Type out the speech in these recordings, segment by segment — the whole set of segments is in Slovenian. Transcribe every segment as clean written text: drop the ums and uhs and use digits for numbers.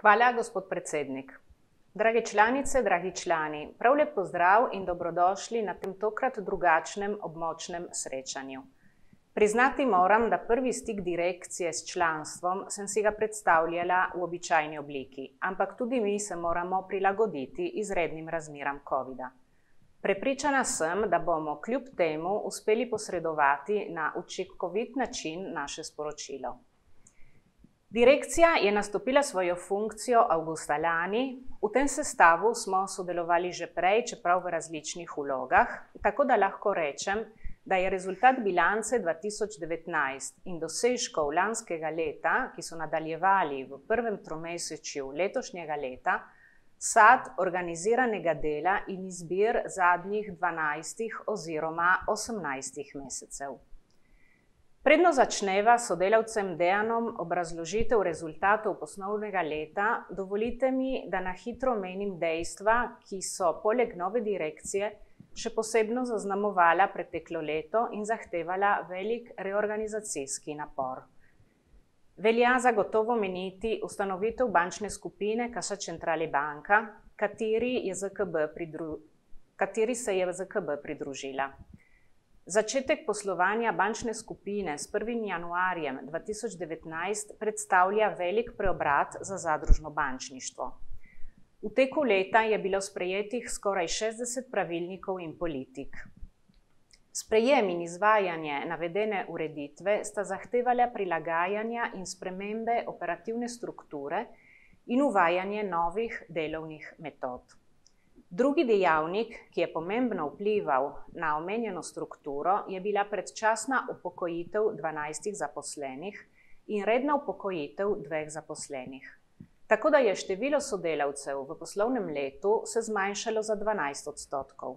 Hvala, gospod predsednik. Drage članice, dragi člani, prav lep pozdrav in dobrodošli na tem tokrat drugačnem območnem srečanju. Priznati moram, da prvi stik direkcije s članstvom sem si ga predstavljala v običajni obliki, ampak tudi mi se moramo prilagoditi izrednim razmeram covida. Prepričana sem, da bomo kljub temu uspeli posredovati na učinkovit način naše sporočilo. Direkcija je nastopila svojo funkcijo avgusta lani, v tem sestavu smo sodelovali že prej, čeprav v različnih vlogah, tako da lahko rečem, da je rezultat bilance 2019 in dosežkov lanskega leta, ki so nadaljevali v prvem tromesečju letošnjega leta, sad organiziranega dela in izbir zadnjih 12 oziroma 18 mesecev. Predno začneva s sodelavcem Dejanom obrazložitev rezultatov poslovnega leta, dovolite mi, da na hitro omenim dejstva, ki so poleg nove direkcije še posebno zaznamovala preteklo leto in zahtevala velik reorganizacijski napor. Velja zagotovo omeniti ustanovitev bančne skupine Cassa Centrale Banca, kateri se je ZKB pridružila. Začetek poslovanja bančne skupine s 1. januarjem 2019 predstavlja velik preobrat za zadružno bančništvo. V teku leta je bilo sprejetih skoraj 60 pravilnikov in politik. Sprejem in izvajanje navedene ureditve sta zahtevala prilagajanja in spremembe operativne strukture in uvajanje novih delovnih metod. Drugi dejavnik, ki je pomembno vplival na omenjeno strukturo, je bila predčasna upokojitev 12 zaposlenih in redna upokojitev 2 zaposlenih. Tako da je število sodelavcev v poslovnem letu se zmanjšalo za 12%.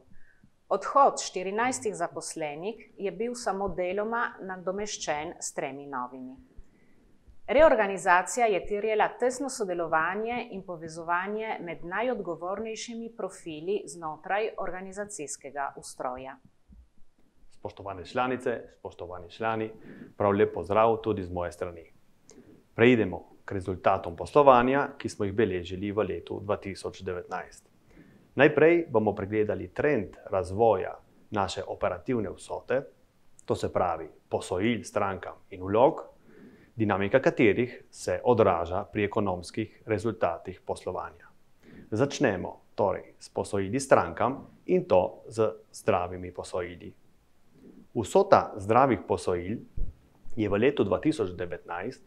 Odhod 14 zaposlenih je bil samo deloma nadomeščen s 3 novimi. Reorganizacija je terjala tesno sodelovanje in povezovanje med najodgovornejšimi profili znotraj organizacijskega ustroja. Spoštovane članice, spoštovani člani, prav lep pozdrav tudi z moje strani. Preidemo k rezultatom poslovanja, ki smo jih beležili v letu 2019. Najprej bomo pregledali trend razvoja naše operativne vsote, to se pravi posojil strankam in vlog, dinamika katerih se odraža pri ekonomskih rezultatih poslovanja. Začnemo torej s posojili strankam in to z zdravimi posojili. Vsota zdravih posojil je v letu 2019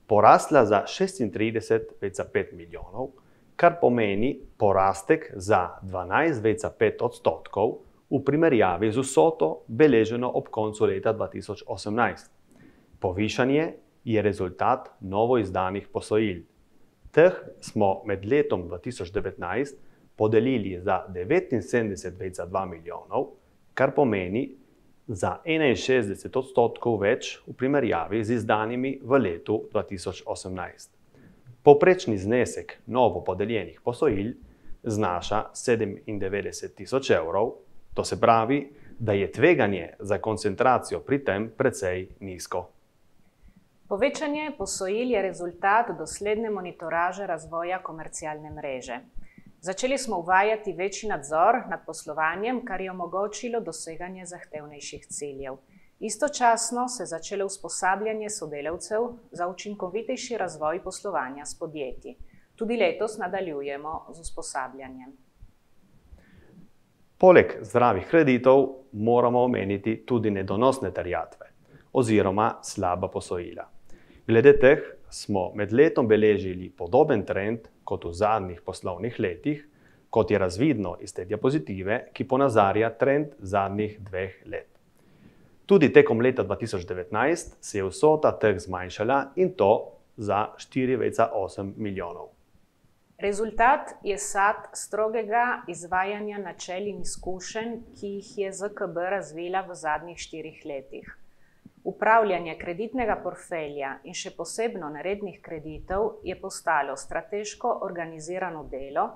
porasla za 36,5 milijonov, kar pomeni porastek za 12,5% v primerjavi z vsoto beleženo ob koncu leta 2018. Povišanje je rezultat novoizdanih posojil. Teh smo med letom 2019 podelili za 79,2 milijonov, kar pomeni za 61% več v primerjavi z izdanimi v letu 2018. Povprečni znesek novo podeljenih posojil znaša 97.000 evrov, to se pravi, da je tveganje za koncentracijo pri tem precej nizko. Povečanje posojil je rezultat dosledne monitoraže razvoja komercialne mreže. Začeli smo uvajati večji nadzor nad poslovanjem, kar je omogočilo doseganje zahtevnejših ciljev. Istočasno se je začelo usposabljanje sodelavcev za učinkovitejši razvoj poslovanja s podjetji. Tudi letos nadaljujemo z usposabljanjem. Poleg zdravih kreditov moramo omeniti tudi nedonosne terjatve oziroma slaba posojila. Glede teh smo med letom beležili podoben trend kot v zadnjih poslovnih letih, kot je razvidno iz te diapozitive, ki ponazarja trend zadnjih 2 let. Tudi tekom leta 2019 se je vsota teh zmanjšala in to za 4,8 milijonov. Rezultat je sad strogega izvajanja načel in izkušenj, ki jih je ZKB razvila v zadnjih 4 letih. Upravljanje kreditnega portfelja in še posebno nerednih kreditov je postalo strateško organizirano delo,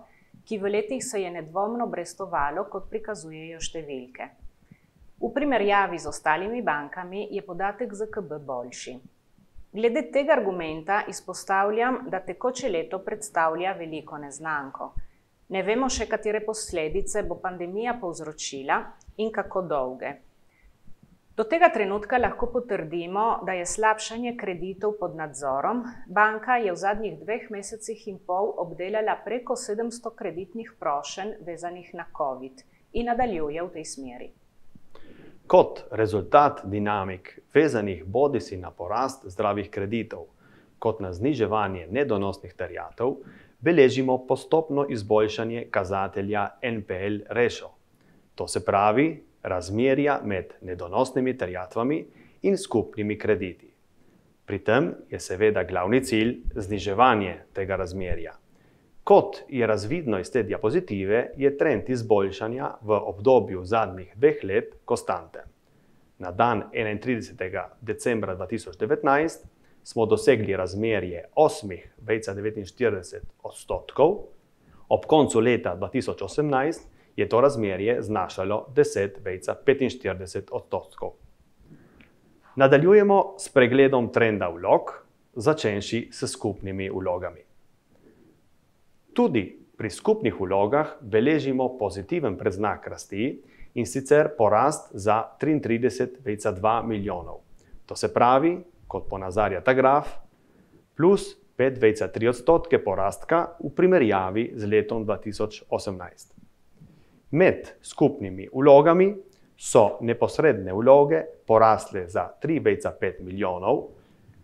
ki v letih se je nedvomno brestovalo, kot prikazujejo številke. V primerjavi z ostalimi bankami je podatek ZKB boljši. Glede tega argumenta izpostavljam, da tekoče leto predstavlja veliko neznanko. Ne vemo še, katere posledice bo pandemija povzročila in kako dolge. Do tega trenutka lahko potrdimo, da je slabšanje kreditov pod nadzorom. Banka je v zadnjih 2 mesecih in pol obdelala preko 700 kreditnih prošenj vezanih na COVID in nadaljuje v tej smeri. Kot rezultat dinamik vezanih bodisi na porast zdravih kreditov, kot na zniževanje nedonosnih terjatev, beležimo postopno izboljšanje kazatelja NPL ratio. To se pravi, razmerja med nedonosnimi terjatvami in skupnimi krediti. Pri tem je seveda glavni cilj zniževanje tega razmerja. Kot je razvidno iz te diapozitive, je trend izboljšanja v obdobju zadnjih 2 let konstanten. Na dan 31. decembra 2019 smo dosegli razmerje 8,49 odstotkov, ob koncu leta 2018 je to razmerje znašalo 10,45 odstotkov. Nadaljujemo s pregledom trenda vlog, začenši s skupnimi vlogami. Tudi pri skupnih vlogah beležimo pozitiven predznak rasti in sicer porast za 33,2 milijonov. To se pravi, kot ponazarja ta graf, plus 5,3 odstotke porastka v primerjavi z letom 2018. Med skupnimi vlogami so neposredne vloge porasle za 3,5 milijonov,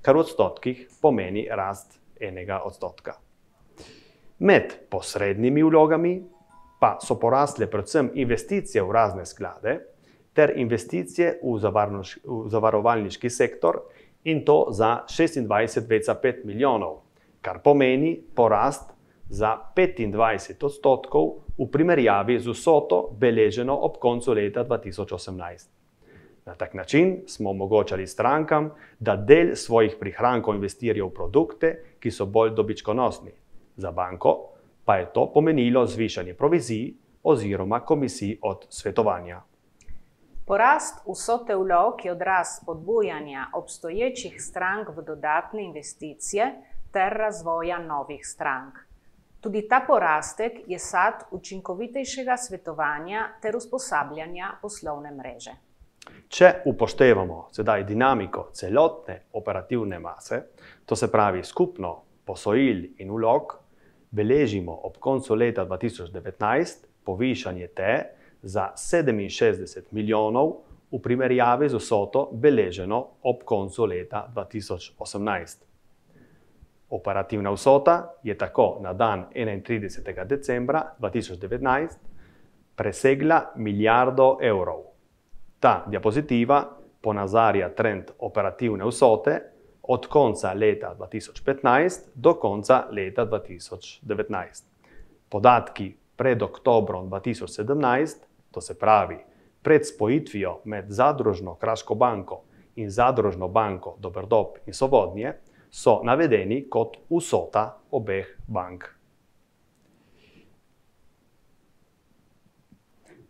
kar v odstotkih pomeni rast 1 odstotka. Med posrednimi vlogami pa so porasle predvsem investicije v razne sklade ter investicije v zavarovalniški sektor in to za 26,5 milijonov, kar pomeni porast za 25 odstotkov v primerjavi z vsoto beleženo ob koncu leta 2018. Na tak način smo omogočali strankam, da del svojih prihrankov investirajo v produkte, ki so bolj dobičkonosni. Za banko pa je to pomenilo zvišanje provizij oziroma komisij od svetovanja. Porast vsote vlog je odraz spodbujanja obstoječih strank v dodatne investicije ter razvoja novih strank. Tudi ta porastek je sad učinkovitejšega svetovanja ter usposabljanja poslovne mreže. Če upoštevamo sedaj dinamiko celotne operativne mase, to se pravi skupno posojil in vlog, beležimo ob koncu leta 2019 povišanje te za 67 milijonov v primerjavi z vsoto beleženo ob koncu leta 2018. Operativna vsota je tako na dan 31. decembra 2019 presegla milijardo evrov. Ta diapozitiva ponazarja trend operativne vsote od konca leta 2015 do konca leta 2019. Podatki pred oktobrom 2017, to se pravi pred spojitvijo med Zadružno Kraško banko in Zadružno banko Doberdob in Sovodnje, so navedeni kot vsota obeh bank.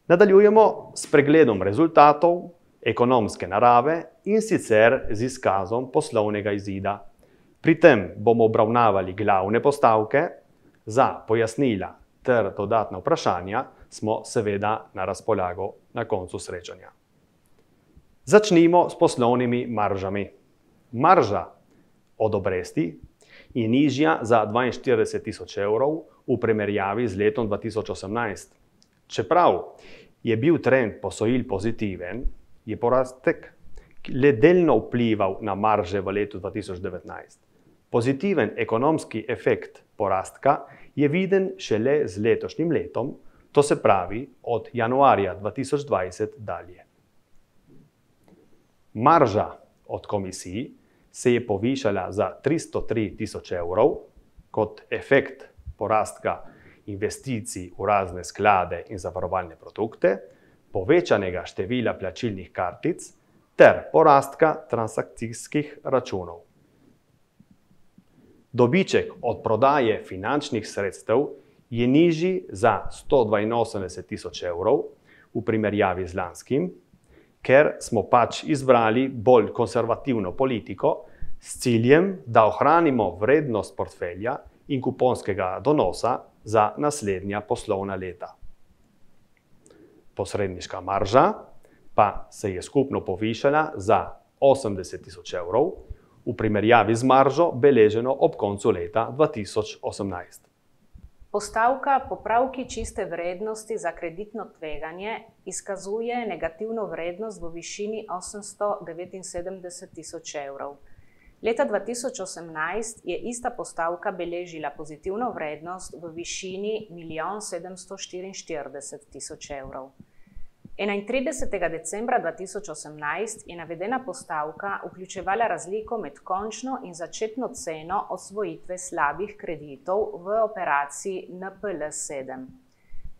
Nadaljujemo s pregledom rezultatov ekonomske narave in sicer z izkazom poslovnega izida. Pri tem bomo obravnavali glavne postavke, za pojasnila ter dodatna vprašanja smo seveda na razpolago na koncu srečanja. Začnimo s poslovnimi maržami. Marža od obresti je nižja za 42 tisoč evrov v primerjavi z letom 2018. Čeprav je bil trend posojil pozitiven, je porastek le delno vplival na marže v letu 2019. Pozitiven ekonomski efekt porastka je viden šele z letošnjim letom, to se pravi od januarja 2020 dalje. Marža od komisij se je povišala za 303 tisoč evrov kot efekt porastka investicij v razne sklade in zavarovalne produkte, povečanega števila plačilnih kartic ter porastka transakcijskih računov. Dobiček od prodaje finančnih sredstev je nižji za 182 tisoč evrov v primerjavi z lanskim, ker smo pač izbrali bolj konservativno politiko, s ciljem, da ohranimo vrednost portfelja in kuponskega donosa za naslednja poslovna leta. Posredniška marža pa se je skupno povišala za 80.000 evrov, v primerjavi z maržo beleženo ob koncu leta 2018. Postavka popravki čiste vrednosti za kreditno tveganje izkazuje negativno vrednost v višini 879.000 evrov. Leta 2018 je ista postavka beležila pozitivno vrednost v višini 1.744.000 evrov. 31. decembra 2018 je navedena postavka vključevala razliko med končno in začetno ceno osvojitve slabih kreditov v operaciji NPL7.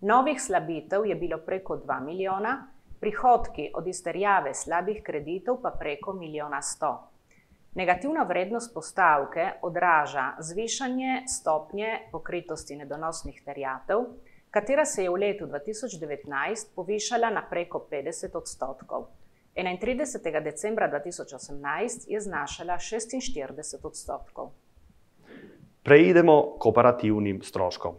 Novih slabitev je bilo preko 2 milijona, prihodki od izterjave slabih kreditov pa preko 1.100.000. Negativna vrednost postavke odraža zvišanje stopnje pokritosti nedonosnih terjatev, katera se je v letu 2019 povišala na preko 50%. 31. decembra 2018 je znašala 46%. Preidemo k operativnim stroškom.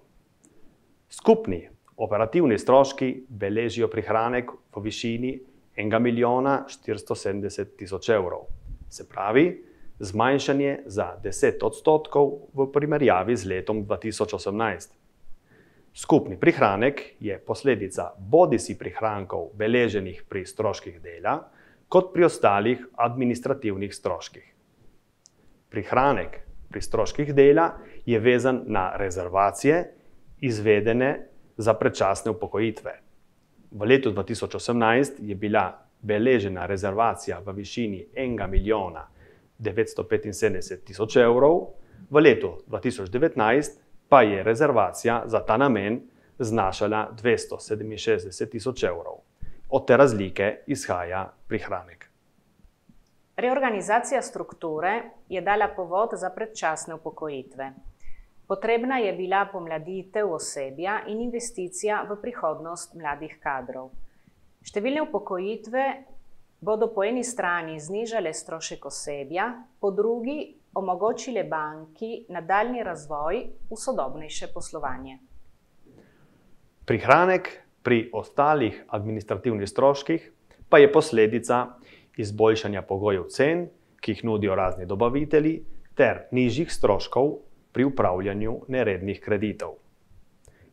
Skupni operativni stroški beležijo prihranek v višini 1.470.000 evrov. Se pravi, zmanjšanje za 10% v primerjavi z letom 2018. Skupni prihranek je posledica bodisi prihrankov beleženih pri stroških dela, kot pri ostalih administrativnih stroških. Prihranek pri stroških dela je vezan na rezervacije, izvedene za predčasne upokojitve. V letu 2018 je bila beležena rezervacija v višini 1.975.000 evrov, v letu 2019 pa je rezervacija za ta namen znašala 267.000 evrov. Od te razlike izhaja prihranek. Reorganizacija strukture je dala povod za predčasne upokojitve. Potrebna je bila pomladitev osebja in investicija v prihodnost mladih kadrov. Številne upokojitve bodo po eni strani znižale strošek osebja, po drugi omogočile banki nadaljnji razvoj v sodobnejše poslovanje. Prihranek pri ostalih administrativnih stroških pa je posledica izboljšanja pogojev cen, ki jih nudijo razni dobavitelji, ter nižjih stroškov pri upravljanju nerednih kreditov.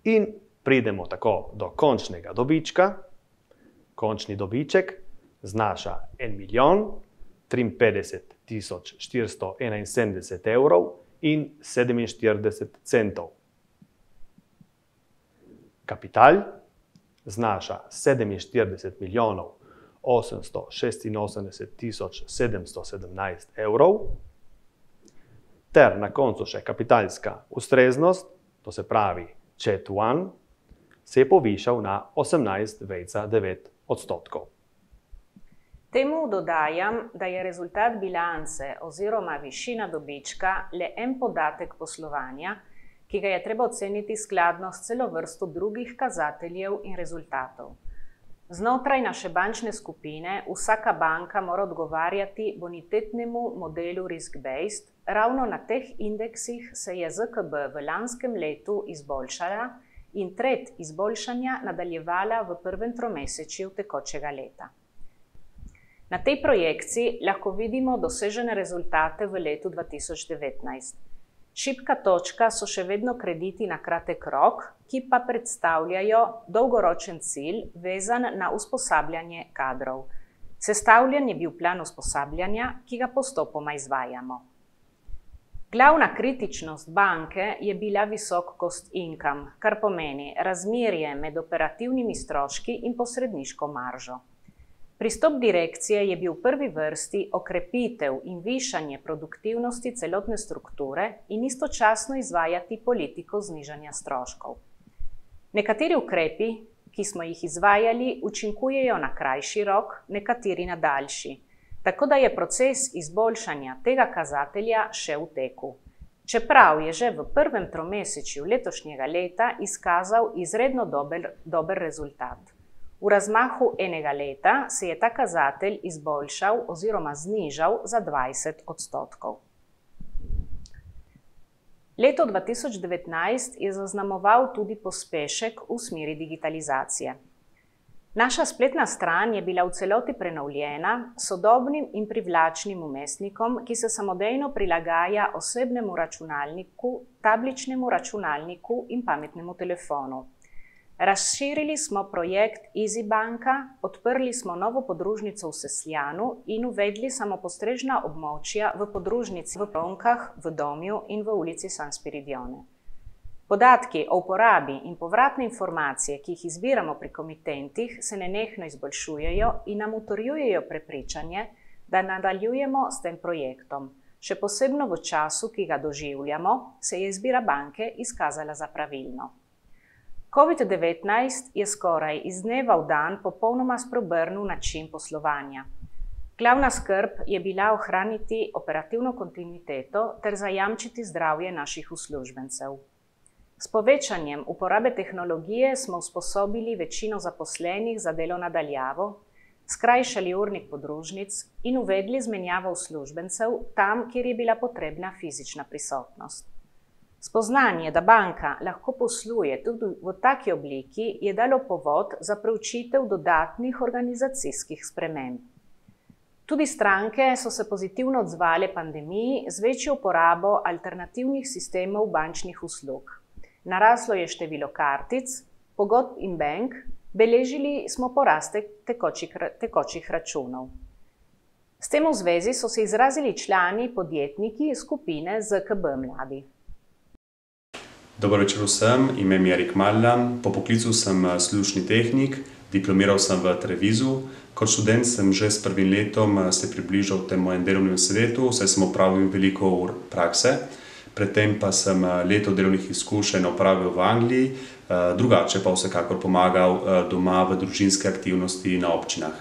In pridemo tako do končnega dobička. Končni dobiček znaša 1.053.471 evrov in 47 centov. Kapital znaša 47.886.717 evrov, ter na koncu še kapitalska ustreznost, to se pravi CET1, se je povišal na 18,9%. Temu dodajam, da je rezultat bilance oziroma višina dobička le en podatek poslovanja, ki ga je treba oceniti skladno s celo vrsto drugih kazateljev in rezultatov. Znotraj naše bančne skupine vsaka banka mora odgovarjati bonitetnemu modelu risk-based. Ravno na teh indeksih se je ZKB v lanskem letu izboljšala in trend izboljšanja nadaljevala v prvem tromesečju tekočega leta. Na tej projekciji lahko vidimo dosežene rezultate v letu 2019. Šibka točka so še vedno krediti na kratek rok, ki pa predstavljajo dolgoročen cilj vezan na usposabljanje kadrov. Sestavljen je bil plan usposabljanja, ki ga postopoma izvajamo. Glavna kritičnost banke je bila visok cost income, kar pomeni razmerje med operativnimi stroški in posredniško maržo. Pristop direkcije je bil v prvi vrsti okrepitev in višanje produktivnosti celotne strukture in istočasno izvajati politiko znižanja stroškov. Nekateri ukrepi, ki smo jih izvajali, učinkujejo na krajši rok, nekateri na daljši, tako da je proces izboljšanja tega kazatelja še v teku. Čeprav je že v prvem tromesečju letošnjega leta izkazal izredno dober rezultat. V razmahu enega leta se je ta kazatelj izboljšal oziroma znižal za 20%. Leto 2019 je zaznamoval tudi pospešek v smeri digitalizacije. Naša spletna stran je bila v celoti prenovljena s sodobnim in privlačnim vmesnikom, ki se samodejno prilagaja osebnemu računalniku, tabličnemu računalniku in pametnemu telefonu. Razširili smo projekt EasyBanka, odprli smo novo podružnico v Sesljanu in uvedli samopostrežna območja v podružnici v Ronkah, v Domju in v ulici San Spiridione. Podatki o uporabi in povratne informacije, ki jih izbiramo pri komitentih, se nenehno izboljšujejo in nam utrjujejo prepričanje, da nadaljujemo s tem projektom. Še posebno v času, ki ga doživljamo, se je izbira banke izkazala za pravilno. COVID-19 je skoraj iz dneva v dan popolnoma spreobrnil način poslovanja. Glavna skrb je bila ohraniti operativno kontinuiteto ter zajamčiti zdravje naših uslužbencev. S povečanjem uporabe tehnologije smo usposobili večino zaposlenih za delo na daljavo, skrajšali urnik podružnic in uvedli zmenjavo uslužbencev tam, kjer je bila potrebna fizična prisotnost. Spoznanje, da banka lahko posluje tudi v taki obliki, je dalo povod za preučitev dodatnih organizacijskih sprememb. Tudi stranke so se pozitivno odzvale pandemiji z večjo uporabo alternativnih sistemov bančnih uslug. Naraslo je število kartic, pogodb in bank, beležili smo porast tekočih računov. S tem v zvezi so se izrazili člani podjetniki skupine ZKB Mladi. Dobro večer vsem, ime mi je Erik Maljan, po poklicu sem služni tehnik, diplomiral sem v Trevizu. Kot študent sem že s prvim letom se približal temu mojem delovnem svetu, saj sem opravil veliko ur prakse. Predtem pa sem leto delovnih izkušenj opravil v Angliji, drugače pa vsekakor pomagal doma v družinske aktivnosti na občinah.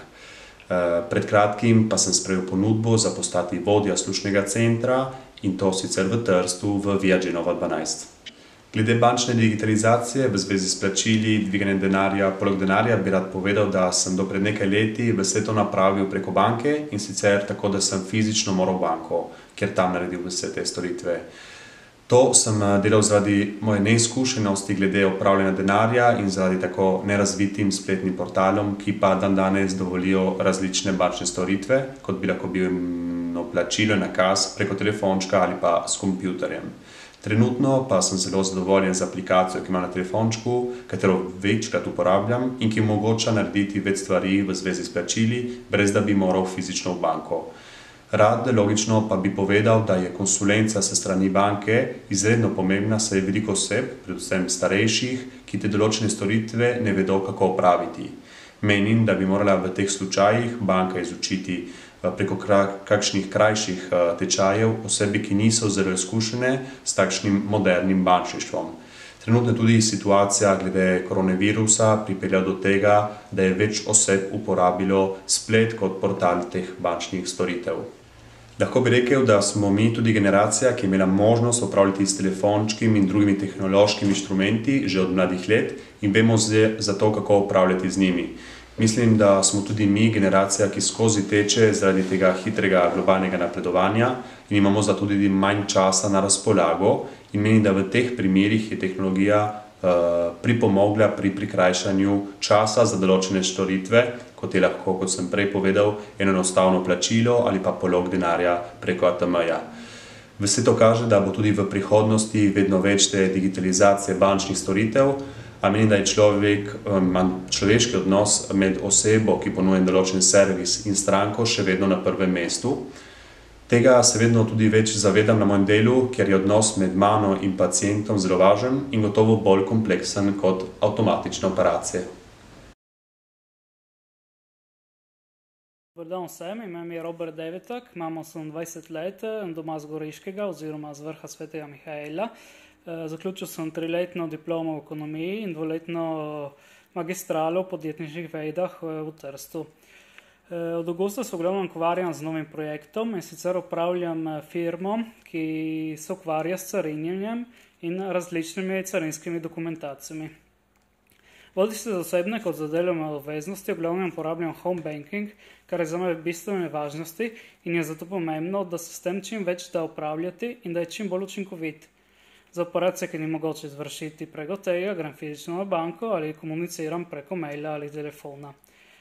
Pred kratkim pa sem sprejel ponudbo za postati vodja služnega centra in to sicer v Trstu v Via Genova 12. Glede bančne digitalizacije v zvezi s plačili, dviganjem denarja, poleg denarja bi rad povedal, da sem do pred nekaj leti vse to napravil preko banke in sicer tako, da sem fizično moral v banko, ker tam naredil vse te storitve. To sem delal zaradi moje neizkušenosti glede upravljanja denarja in zaradi tako nerazvitim spletnim portalom, ki pa dandanes dovolijo različne bančne storitve, kot bi lahko bil plačilo, nakaz preko telefončka ali pa s kompjuterjem. Trenutno pa sem zelo zadovoljen z aplikacijo, ki imam na telefončku, katero večkrat uporabljam in ki omogoča narediti več stvari v zvezi s plačili, brez da bi moral fizično v banko. Rad, logično pa bi povedal, da je konsulenca s strani banke izredno pomembna, saj je veliko oseb, predvsem starejših, ki te določene storitve ne vedo, kako opraviti. Menim, da bi morala v teh slučajih banka izučiti preko kakšnih krajših tečajev osebi, ki niso zelo izkušene s takšnim modernim bančništvom. Trenutno tudi situacija glede koronavirusa pripelja do tega, da je več oseb uporabilo splet kot portal teh bančnih storitev. Lahko bi rekel, da smo mi tudi generacija, ki je imela možnost upravljati s telefončkim in drugimi tehnološkimi inštrumenti že od mladih let in vemo za to, kako upravljati z njimi. Mislim, da smo tudi mi generacija, ki skozi teče zaradi tega hitrega globalnega napredovanja in imamo zato tudi manj časa na razpolago in menim, da v teh primerih je tehnologija pripomogla pri prikrajšanju časa za določene storitve, kot je lahko, kot sem prej povedal, enostavno plačilo ali pa polog denarja preko ATM-ja. Vse to kaže, da bo tudi v prihodnosti vedno več te digitalizacije bančnih storitev, a menim, da je človeški odnos med osebo, ki ponuja določen servis in stranko, še vedno na prvem mestu. Tega se vedno tudi več zavedam na mojem delu, ker je odnos med mano in pacientom zelo važen in gotovo bolj kompleksen kot avtomatične operacije. Dobar dan vsem, ime mi je Robert Devetak, imam 28 let, doma z Goriškega oziroma z vrha Svetega Mihaela. Zaključil sem 3-letno diplomo v ekonomiji in 2-letno magistralo v podjetniških vedah v Trstu. Od avgusta se v glavnem ukvarjam z novim projektom in sicer upravljam firmo, ki se ukvarja s carinjenjem in različnimi carinskimi dokumentacijami. Bodi si za osebne kot za delovne obveznosti, v glavnem uporabljam home banking, kar je za me bistvene važnosti in je zato pomembno, da se s tem čim več da upravljati in da je čim bolj učinkovit. Za operacije, ki ni mogoče izvršiti preko tega, grem fizično na banko ali komuniciram preko maila ali telefona.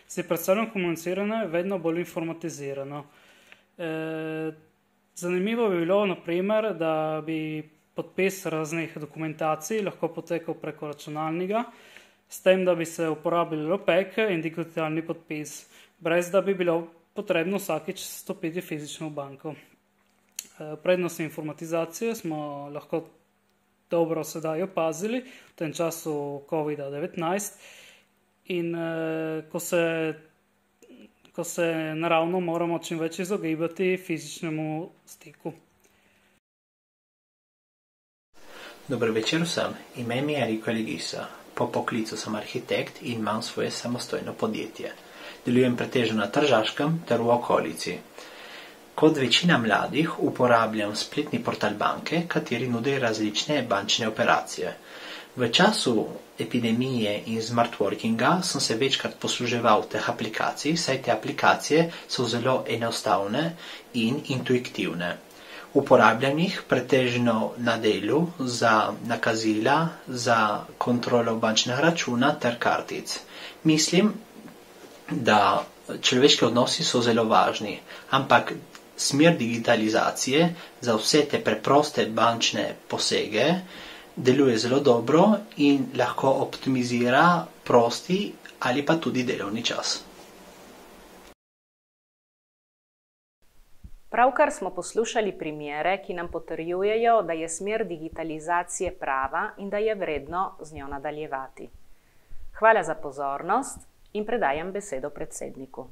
Si predstavljam komuniciranje vedno bolj informatizirano. Zanimivo bi bilo, na primer, da bi podpis raznih dokumentacij lahko potekal preko računalnika, s tem, da bi se uporabljalo PEC in digitalni podpis, brez da bi bilo potrebno vsakič stopiti fizično v banko. Prednosti informatizacije smo lahko dobro sedaj opazili v tem času COVID-19 in ko se naravno moramo čim več izogibati fizičnemu stiku. Dober večer vsem, ime mi je Eriko Legisa. Po poklicu sem arhitekt in imam svoje samostojno podjetje. Delujem pretežno na Tržaškem ter v okolici. Kot večina mladih uporabljam spletni portal banke, kateri nudi različne bančne operacije. V času epidemije in smart workinga sem se večkrat posluževal teh aplikacij, saj te aplikacije so zelo enostavne in intuitivne. Uporabljam jih pretežno na delu za nakazila, za kontrolo bančnega računa ter kartic. Mislim, da človeški odnosi so zelo važni, ampak smer digitalizacije za vse te preproste bančne posege deluje zelo dobro in lahko optimizira prosti ali pa tudi delovni čas. Pravkar smo poslušali primere, ki nam potrjujejo, da je smer digitalizacije prava in da je vredno z njo nadaljevati. Hvala za pozornost in predajam besedo predsedniku.